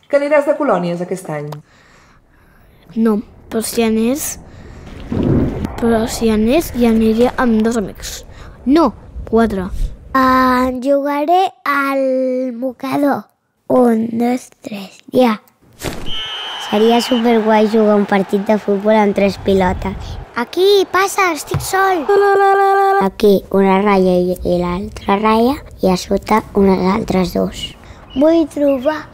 Que aniràs de colònies aquest any? No, però si anés, hi aniria amb 2 amics. No, 4. Jugaré al mocador. 1, 2, 3, ja. Seria superguai jugar un partit de futbol amb 3 pilotes. Aquí, passa, estic sol. Aquí una ratlla i l'altra ratlla i a sota unes altres 2. Vull trobar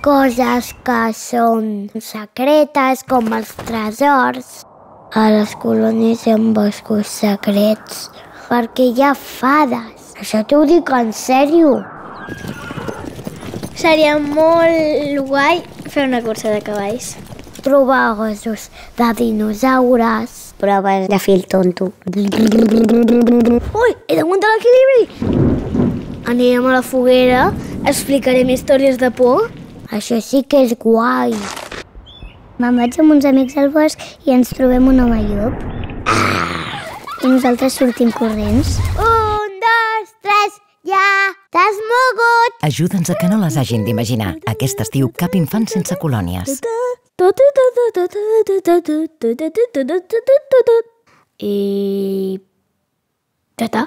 coses que són secretes, com els tresors. A les colònies hi ha boscos secrets, perquè hi ha fades. Això t'ho dic en sèrio. Seria molt guai fer una cursa de cavalls. Trobar ossos de dinosaures. Proves de fil tonto. Ui, he d'aguantar l'equilibri! Anirem a la foguera, explicarem històries de por. Això sí que és guai. Me'n vaig amb uns amics al bosc i ens trobem un home llop. I nosaltres sortim corrents. 1, 2, 3, ja! T'has mogut! Ajuda'ns a que no les hagin d'imaginar. Aquest estiu, cap infant sense colònies. I... Tata.